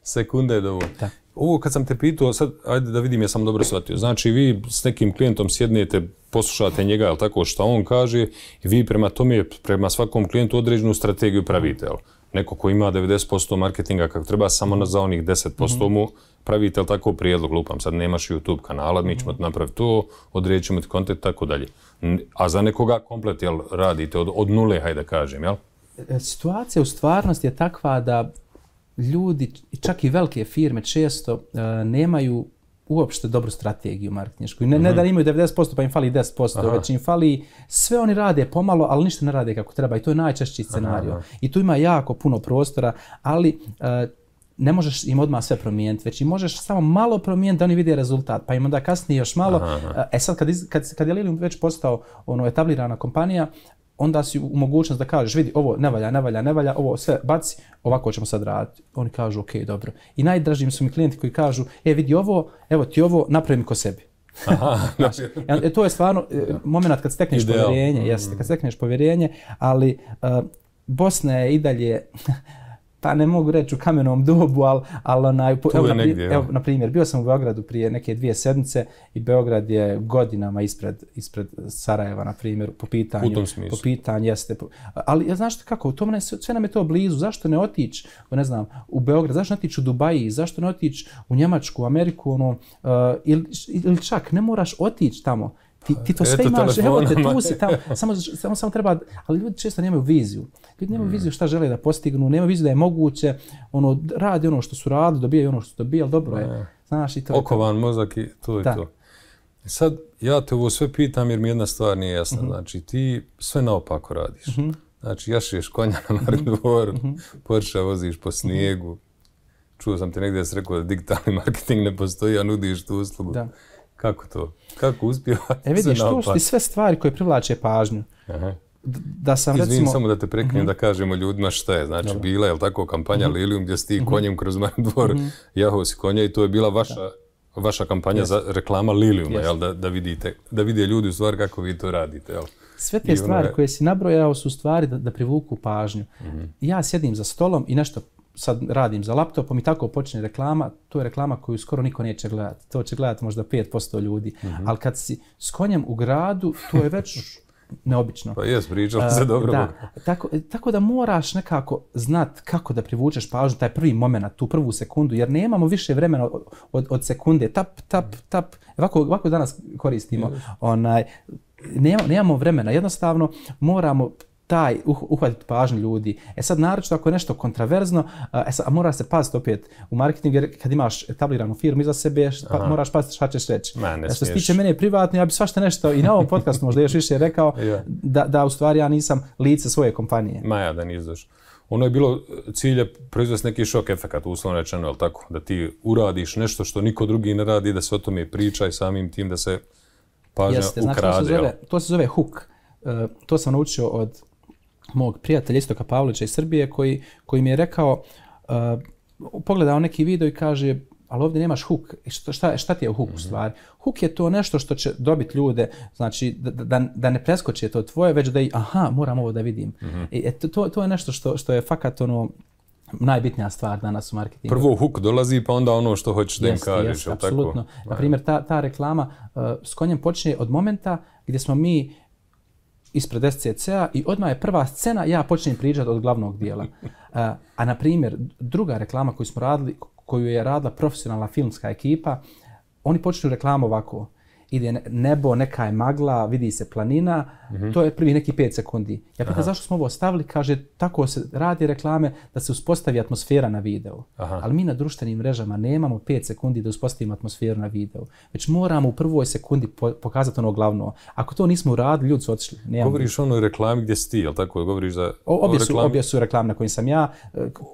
Sekunde je dovoljno. Ovo kad sam te pitao, sad ajde da vidim, ja sam dobro shvatio. Znači vi s nekim klijentom sjednete, poslušate njega, jel tako, šta on kaže i vi prema svakom klijentu određenu strategiju pravite, jel? Neko ko ima 90% marketinga kako treba, samo za onih 10% mu pravite, jel tako, prijedlog, lupam, sad nemaš YouTube kanala, mi ćemo napraviti to, odredit ćemo ti kontent, tako dalje. A za nekoga komplet, jel, radite od nule, hajde da kažem, jel? Situacija u stvarnosti je takva da ljudi, čak i velike firme, često nemaju uopšte dobru strategiju marketinšku. Ne da imaju 90% pa im fali 10%, već im fali, sve oni rade pomalo, ali ništa ne rade kako treba i to je najčešći scenario. I tu ima jako puno prostora, ali ne možeš im odmah sve promijeniti, već im možeš samo malo promijeniti da oni vide rezultat, pa im onda kasnije još malo. Sad kad je Lilium već postao etablirana kompanija, onda si u mogućnost da kažeš, vidi, ovo ne valja, ovo sve baci, ovako ćemo sad raditi. Oni kažu, ok, dobro. I najdražim su mi klijenti koji kažu, vidi ovo, evo ti ovo, napravi mi ko sebi. To je stvarno moment kad stekneš povjerenje, kad stekneš povjerenje, ali Bosna je i dalje, pa ne mogu reći u kamenom dobu, ali evo, na primjer, bio sam u Beogradu prije neke 2 sedmice i Beograd je godinama ispred Sarajeva, na primjer, po pitanju, jeste. Ali znaš kako, sve nam je to blizu, zašto ne otići, ne znam, u Beograd, zašto ne otići u Dubaji, zašto ne otići u Njemačku, u Ameriku, ili čak ne moraš otići tamo. Ti to sve imaš, evo te, tu si tamo, samo treba, ali ljudi često nemaju viziju. Ljudi nemaju viziju šta žele da postignu, nemaju viziju da je moguće, radi što su radili, dobijaju što su dobijali, dobro je. Znaš, i to okovan mozak i to je to. Sad, ja te ovo sve pitam jer mi jedna stvar nije jasna. Znači, ti sve naopako radiš. Znači, jašeš konja na Marindvoru, Porsche voziš po snijegu. Čuo sam ti negdje da si rekao da digitalni marketing ne postoji, a nudiš tu uslugu. Da. Kako to? Kako uspijevati? Vidiš, to su ti sve stvari koje privlače pažnju. Da sam, recimo... samo da te prekinem da kažemo ljudima šta je. Znači, bila je tako kampanja Lilium gdje si ti konjem kroz Marindvor jahao si konja i to je bila vaša kampanja za reklama Liliuma, jel? Da vide ljudi u stvari kako vi to radite. Jel? Sve te stvari koje si nabrojao su stvari da privuku pažnju. Ja sjedim za stolom i nešto sad radim za laptopom i tako počne reklama, to je reklama koju skoro niko neće gledati. To će gledati možda 5% ljudi. Ali kad si s konjem u gradu, to je već neobično. Pa jes, pričali se dobro. Da, tako da moraš nekako znat kako da privučeš pažnju, taj prvi moment, tu prvu sekundu, jer nemamo više vremena od sekunde. Tap. Ovako danas koristimo. Nemamo vremena. Jednostavno moramo uhvatiti pažnju ljudi. Sad, naročito ako je nešto kontraverzno, mora se paziti opet u marketingu, jer kad imaš etabliranu firmu iza sebe, moraš paziti šta ćeš reći. Što se tiče mene privatno, ja bi svašta nešto i na ovom podcastu možda još više rekao, da u stvari ja nisam lice svoje kompanije. Da nizdaš. Ono je bilo cilje proizvesti neki šok efekat, uslovno rečeno, je tako? Da ti uradiš nešto što niko drugi ne radi, da se o tome priča i samim tim da se pažnja ukrade. To se zove hook. To sam naučio od mog prijatelja Istoka Pavlića iz Srbije koji mi je rekao, pogledao neki video i kaže, ali ovdje nemaš hook. Šta ti je hook u stvari? Hook je to nešto što će dobiti ljude, znači da ne preskoče to tvoje, već da moram ovo da vidim. To je nešto što je fakat najbitnija stvar danas u marketingu. Prvo hook dolazi pa onda ono što hoćeš da im kažeš. Apsolutno. Naprimjer, ta reklama s konjem počne od momenta gdje smo mi ispred SCC-a i odmah je prva scena, ja počnem pričati od glavnog dijela. A na primjer, druga reklama koju smo radili, koju je radila profesionalna filmska ekipa, oni počnu reklamu ovako. Ide nebo, neka je magla, vidi se planina, to je prvi neki 5 sekundi. Ja pitam zašto smo ovo stavili, kaže tako se radi reklame da se uspostavi atmosfera na videu. Ali mi na društvenim mrežama nemamo 5 sekundi da uspostavimo atmosferu na videu. Već moramo u prvoj sekundi pokazati ono glavno. Ako to nismo uradili, ljudi su otišli. Govoriš o onoj reklami gdje si ti, jel tako? Govoriš za obje su reklame na kojim sam ja.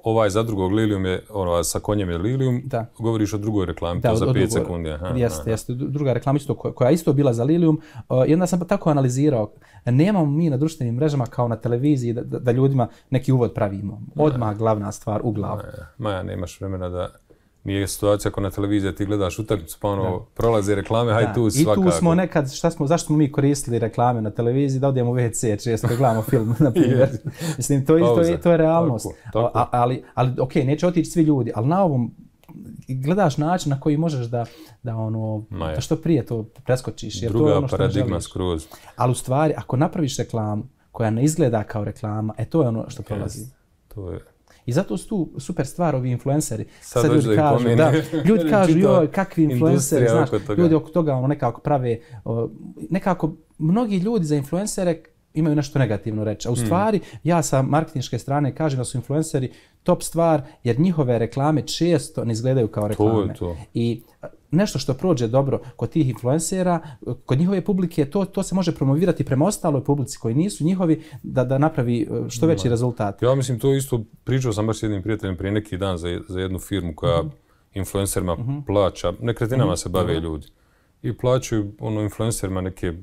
Ovaj za drugog Lilium je, sa konjem je Lilium, govoriš o drugoj reklami, to za 5 sekundi. Jeste, druga reklama isto koja je isto bila za Lilium. I onda sam tako analizirao. Nemamo mi na društvenim mrežama kao na televiziji da ljudima neki uvod pravimo. Odmah glavna stvar u glavu. Maja, nemaš vremena da... Nije situacija ako na televiziji ti gledaš utakmicu pa prolaze reklame, hajde tu svakako. I tu smo nekad, zašto smo mi koristili reklame na televiziji, da odemo u WC, često gledamo film, na primjer. Mislim, to je realnost. Ali neće otići svi ljudi, ali na ovom gledaš način na koji možeš da što prije to preskočiš. Jer druga to je ono što paradigma skroz. Ali u stvari, ako napraviš reklamu koja ne izgleda kao reklama, to je ono što prolazi. To je. I zato su tu super stvar ovi influenceri. Sad ljudi kažu, joj, kakvi influenceri, znaš, ljudi oko toga nekako prave, nekako mnogi ljudi za influencere imaju nešto negativno reći. A u stvari, ja sa marketinške strane kažem da su influenceri top stvar, jer njihove reklame često ne izgledaju kao reklame. I nešto što prođe dobro kod tih influencera, kod njihove publike, to se može promovirati prema ostaloj publici koji nisu njihovi, da napravi što veći rezultat. Ja mislim, to isto pričao sam baš s jednim prijateljem prije neki dan za jednu firmu koja influencerima plaća, nekretninama se bave ljudi. I plaćaju influencerima neke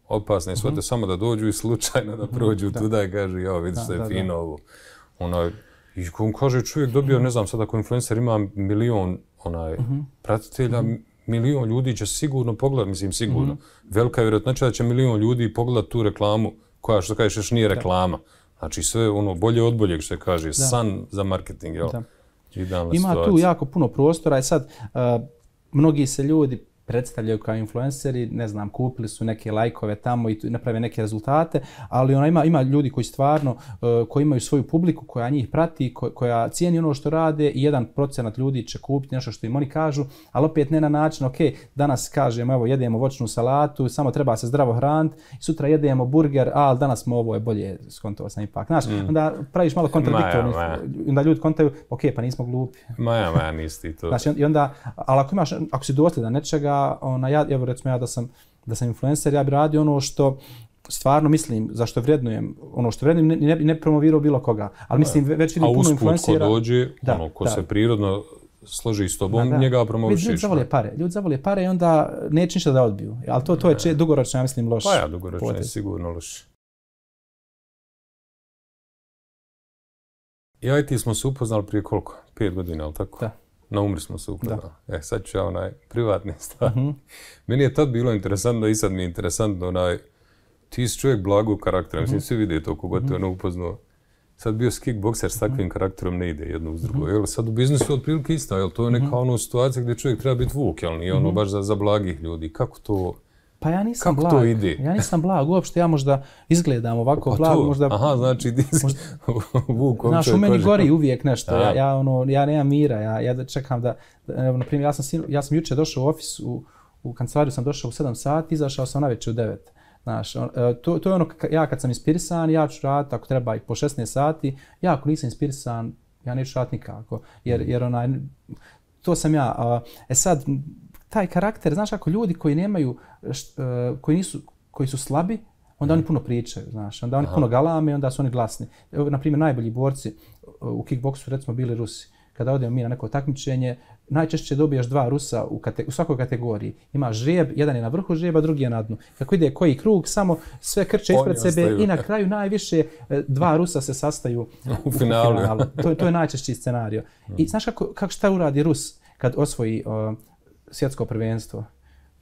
opasne svote samo da dođu i slučajno da prođu tuda i kaže, ja vidiš da je fino ovo. I on kaže, čovjek dobio, ne znam, sad ako influencer ima 1 milion pratitelja, 1 milion ljudi će sigurno pogledati, mislim sigurno. Velika je vjerojatnoća da će 1 milion ljudi pogledati tu reklamu koja, što kažeš, još nije reklama. Znači sve bolje od boljeg, što se kaže, san za marketing, jel? Ima tu jako puno prostora i sad mnogi se ljudi predstavljaju kao influenceri, ne znam, kupili su neke lajkove tamo i naprave neke rezultate, ali ima ljudi koji stvarno, koji imaju svoju publiku, koja njih prati, koja cijeni ono što rade i 1% ljudi će kupiti nešto što im oni kažu, ali opet ne na način, danas kažemo, evo, jedemo voćnu salatu, samo treba se zdravo hraniti, sutra jedemo burger, ali danas ovo je bolje, skontovao sam ipak. Znaš, onda praviš malo kontradiktorno, onda ljudi kontaju, pa nismo glupi. Maja, nisi ti to. Znači, i onda, ali ako si dosljedan nečega, evo recimo ja da sam influencer, ja bi radio ono što stvarno mislim, zašto vrednujem, ono što vrednujem, ne promovirao bilo koga, ali mislim već vidim puno influencera. A usput ko dođe, ko se prirodno složi s tobom, njega promovišiš. Ljudi zavole pare i onda neće ništa da odbiju, ali to je dugoročno, ja mislim, loš. Pa ja, dugoročno je sigurno loš. Ja i ti smo se upoznali prije koliko? 5 godina, ali tako? Da. Na Umri smo se upoznali. Sad ću ja privatni stvar. Meni je tad bilo interesantno i sad mi je interesantno ti si čovjek blagog karaktera, mislim svi vide to kogod te upoznao. Sad bio si kickbokser s takvim karakterom ne ide jedno uz drugo. Jel, sad u biznisu otprilike isto, jel to je neka situacija gdje čovjek treba biti vuk, jel nije baš za blagih ljudi. Kako to... Pa ja nisam blag, ja nisam blag, uopšte ja možda izgledam ovako blag, možda... Aha, znači ti si vuk. Znaš, u meni gori uvijek nešto, ja nemam mira, ja čekam da, na primjer, ja sam jučer došao u ofis, u kancelariju sam došao u 7 sati, izašao sam navečer u 9. Znaš, to je ono, ja kad sam inspirisan, ja ću raditi, ako treba i po 16 sati, ja ako nisam inspirisan, ja neću raditi nikako, jer to sam ja. Sad, taj karakter, znaš, ako ljudi koji nemaju, koji su slabi, onda oni puno pričaju, znaš, onda oni puno galame, onda su oni glasni. Evo, na primjer, najbolji borci u kickboksu, recimo, bili Rusi. Kada odemo mi na neko takmičenje, najčešće dobijaš 2 Rusa u svakoj kategoriji. Imaš žrijeb, jedan je na vrhu žrijeba, drugi je na dnu. Kako ide koji krug, samo sve krče ispred sebe i na kraju najviše 2 Rusa se sastaju u finalu. To je najčešći scenario. I znaš kako šta uradi Rus kad osvoji svjetsko prvenstvo?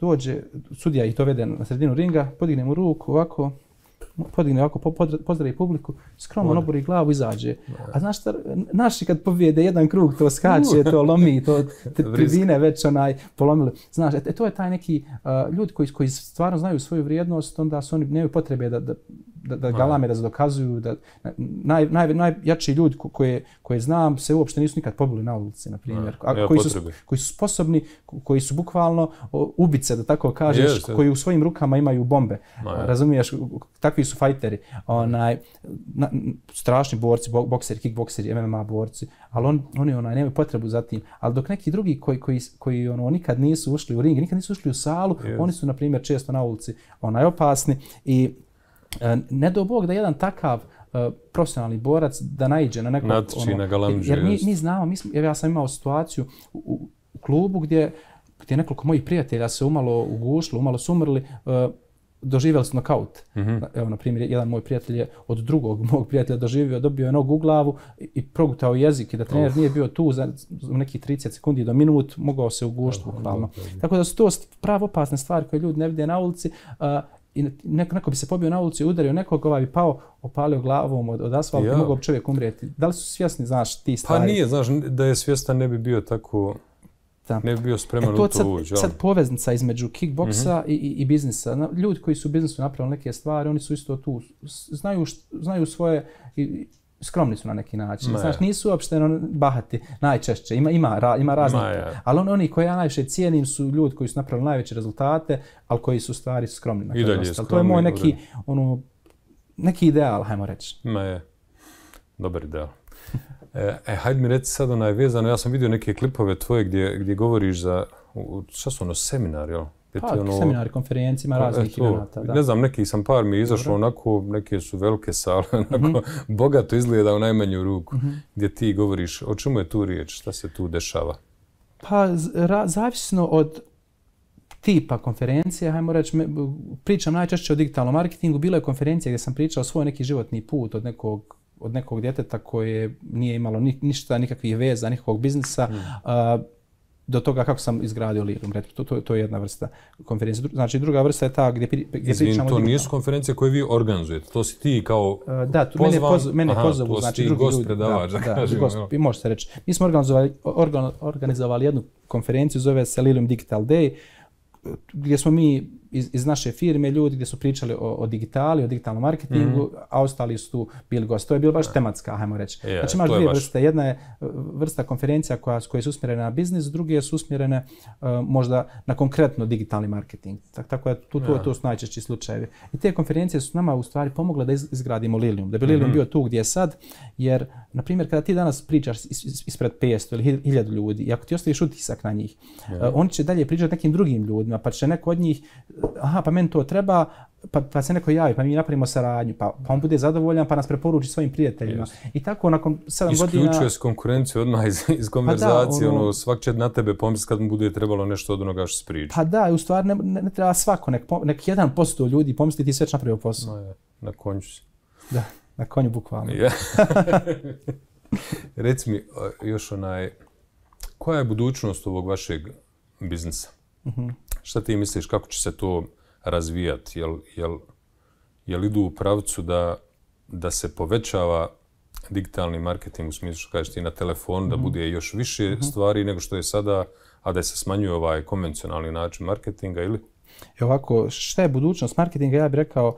Dođe, sudija ih dovede na sredinu ringa, podigne mu ruku ovako, pozdravi publiku, skromno obori glavu, izađe. A znaš šta, naši kad pobjede jedan krug, to skače, to lomi, to tribine već polomili. Znaš, to je taj neki ljudi koji stvarno znaju svoju vrijednost, onda su oni nemaju potrebe da galame, da se dokazuju. Najjači ljudi koje znam se uopšte nisu nikad pobili na ulici, na primjer. Koji su sposobni, koji su bukvalno ubice, da tako kažeš, koji u svojim rukama imaju bombe. Razumiješ, takvi su fajteri. Strašni borci, bokseri, kickbokseri, MMA borci, ali oni nemaju potrebu za tim. Ali dok neki drugi koji nikad nisu ušli u ring, nikad nisu ušli u salu, oni su, na primjer, često na ulici opasni i ne do Bog da jedan takav profesionalni borac da naiđe na nekog... Jer mi znamo, ja sam imao situaciju u klubu gdje nekoliko mojih prijatelja se umalo ugušilo, umalo su umrli, doživjeli su nokaut. Evo, na primjer, jedan moj prijatelj je od drugog mog prijatelja dobio je nogu u glavu i progutao jezik i da trener nije bio tu za nekih 30 sekundi do minut, mogao se ugušiti bukvalno. Tako da su to pravo opasne stvari koje ljudi ne vide na ulici. I neko bi se pobio na ulici, udario nekog, bi pao, opalio glavom od asfalta i mogao bi čovjek umrijeti. Da li su svjesni, znaš, ti stvari? Pa nije, znaš, da je svjestan ne bi bio tako, ne bi bio spreman u to ući. Sad poveznica između kickboksa i biznisa. Ljudi koji su u biznisu napravili neke stvari, oni su isto tu, znaju svoje, skromni su na neki način. Znaš, nisu uopšte bahati najčešće, ima raznih. Ali oni koji ja najviše cijenim su ljudi koji su napravili najveće rezultate, ali koji su u stvari skromni na kraju. To je moj neki ideal, hajmo reći. Dobar ideal. Hajde mi reci sad vezano, ja sam vidio neke klipove tvoje gdje govoriš za, šta su seminari, jel? Seminari, konferencijima, raznih eventa. Ne znam, neki sam par mi izašlo onako, neke su velike sale, onako bogato izgleda u najmanju ruku, gdje ti govoriš, o čemu je tu riječ, šta se tu dešava? Pa, zavisno od tipa konferencije, hajmo reći, pričam najčešće o digitalnom marketingu, bila je konferencija gdje sam pričao svoj neki životni put od nekog djeteta koje nije imalo ništa, nikakvih veza, nikakvog biznisa, do toga kako sam izgradio Lilium. To je jedna vrsta konferencije. Znači, druga vrsta je ta gdje pričamo... To nisu konferencije koje vi organizujete, to si ti kao pozvan? Mene pozovu, znači drugi ljudi. Gost predavač, da kažem. Može se reći. Mi smo organizovali jednu konferenciju, zove se Lilium Digital Day, gdje smo mi iz naše firme ljudi gdje su pričali o digitali, o digitalnom marketingu, a ostali su tu bili gosti. To je bilo baš tematska, hajmo reći. Znači imaš dvije vrste. Jedna je vrsta konferencija koje su usmjerene na biznis, druge su usmjerene možda na konkretno digitalni marketing. Tako da tu su najčešći slučajevi. I te konferencije su nama u stvari pomogle da izgradimo Lilium. Da bi Lilium bio tu gdje je sad, jer, na primjer, kada ti danas pričaš ispred 500 ili 1000 ljudi, i ako ti ostaviš utisak na njih, oni će dalje pričati nekim drugim ljudima, pa će neko od njih, pa meni to treba, pa se neko javi, pa mi napravimo saradnju, pa on bude zadovoljan, pa nas preporuči svojim prijateljima. I tako nakon 7 godina... Isključuje se konkurenciju odmah iz konverzacije, svak će na tebe pomisliti kad mu bude trebalo nešto od onoga što se priča. Pa da, u stvari ne treba svako, nek 1% ljudi pomisli ti sve već napravio posao. Na konju si. Da, na konju bukvalno. Reci mi još koja je budućnost ovog vašeg biznisa? Šta ti misliš, kako će se to razvijati? Jel idu u pravcu da se povećava digitalni marketing u smislu što kažeš ti na telefonu, da bude još više stvari nego što je sada, a da se smanjuje ovaj konvencionalni način marketinga ili? Ovako, šta je budućnost marketinga? Ja bih rekao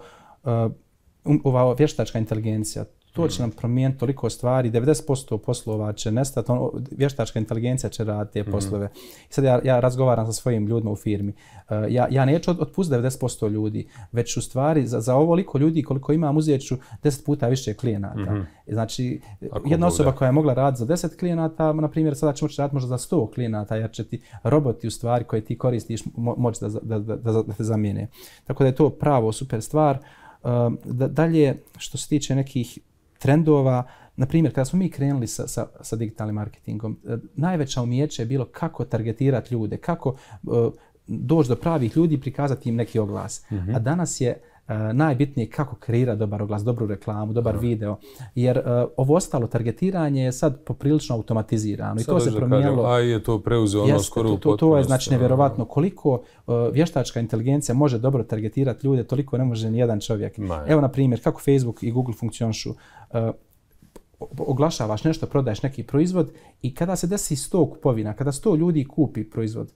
ova vještačka inteligencija. To će nam promijeniti toliko stvari, 90% poslova će nestati, vještačka inteligencija će raditi te poslove. I sad ja razgovaram sa svojim ljudima u firmi. Ja neću otpustiti 90% ljudi, već u stvari za ovoliko ljudi koliko imam uzet ću 10 puta više klijenata. Znači, jedna osoba koja je mogla raditi za 10 klijenata, na primjer, sada će moći raditi možda za 100 klijenata, jer će ti roboti u stvari koje ti koristiš moći da te zamijene. Tako da je to pravo super stvar. Dalje, što se tiče nekih trendova, na primjer, kada smo mi krenuli sa digitalnim marketingom, najveća umijeće je bilo kako targetirati ljude, kako doći do pravih ljudi i prikazati im neki oglas. A danas je najbitnije kako kreirati dobar oglas, dobru reklamu, dobar video, jer ovo ostalo targetiranje je sad poprilično automatizirano i to se promijenilo. A je to preuzeo skoro u potpunosti. To je znači nevjerovatno koliko vještačka inteligencija može dobro targetirati ljude, toliko ne može ni jedan čovjek. Evo na primjer kako Facebook i Google funkcionišu. Oglašavaš nešto, prodaješ neki proizvod i kada se desi 100 kupovina, kada 100 ljudi kupi proizvod,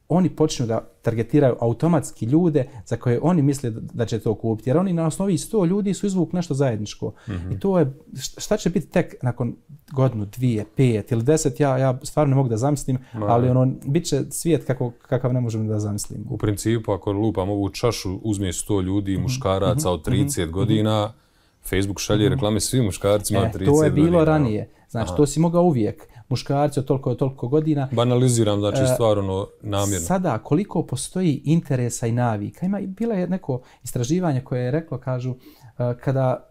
oni počnu da targetiraju automatski ljude za koje oni misle da će to kupiti. Jer oni na osnovi 100 ljudi su izvukli nešto zajedničko. I to je, šta će biti tek nakon godinu, 2, 5 ili 10, ja stvarno ne mogu da zamislim, ali bit će svijet kakav ne možemo da zamislim. U principu, ako lupam ovu čašu, uzme 100 ljudi, muškaraca od 30 godina, Facebook šalje reklame svim muškarcima od 30 godina. To je bilo ranije. Znači, to si mogao uvijek. Muškarci od toliko godina. Banaliziram, znači stvar namjerno. Sada, koliko postoji interesa i navika. Bilo je neko istraživanje koje je reklo, kažu, kada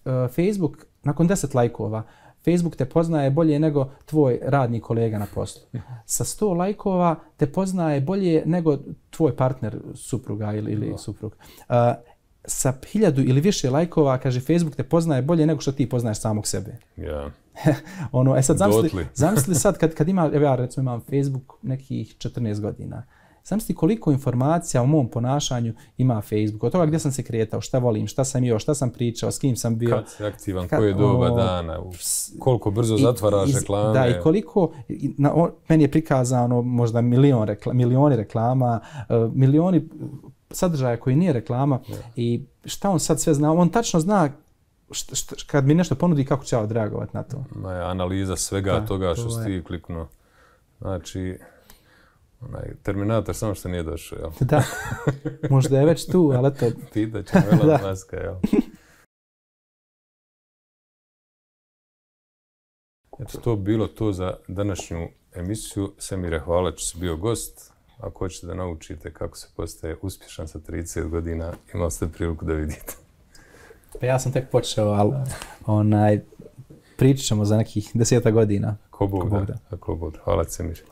Facebook, nakon 10 lajkova, Facebook te poznaje bolje nego tvoj radni kolega na poslu. Sa 100 lajkova te poznaje bolje nego tvoj partner, supruga ili suprug. Sa 1000 ili više lajkova, kaže, Facebook te poznaje bolje nego što ti poznaješ samog sebe. Sad zamisli sad kad ja recimo imam Facebook nekih 14 godina. Zamisli koliko informacija o mom ponašanju ima Facebook. Od toga gdje sam se kretao, šta volim, šta sam jeo, šta sam pričao, s kim sam bio. Kad si aktivan, koje doba dana, koliko brzo zatvaraš reklame. Da, i koliko, meni je prikazano možda milioni reklama, milioni sadržaja koji nije reklama i šta on sad sve zna. On tačno zna kad mi nešto ponudi kako će ja odreagovati na to. Analiza svega toga što si ti kliknuo. Znači, Terminator samo što nije došao, jel? Da, možda je već tu, ali to... Pitat ćemo Elon Muska, jel? Eto, to bilo to za današnju emisiju. Semire, hvala što si bio gost. Ako hoćete da naučite kako se postaje uspješan sa 30 godina, imali ste priliku da vidite. Pa ja sam tek počeo, ali pričat ćemo za nekih 10 godina. Ako Bog da. Hvala, Semir.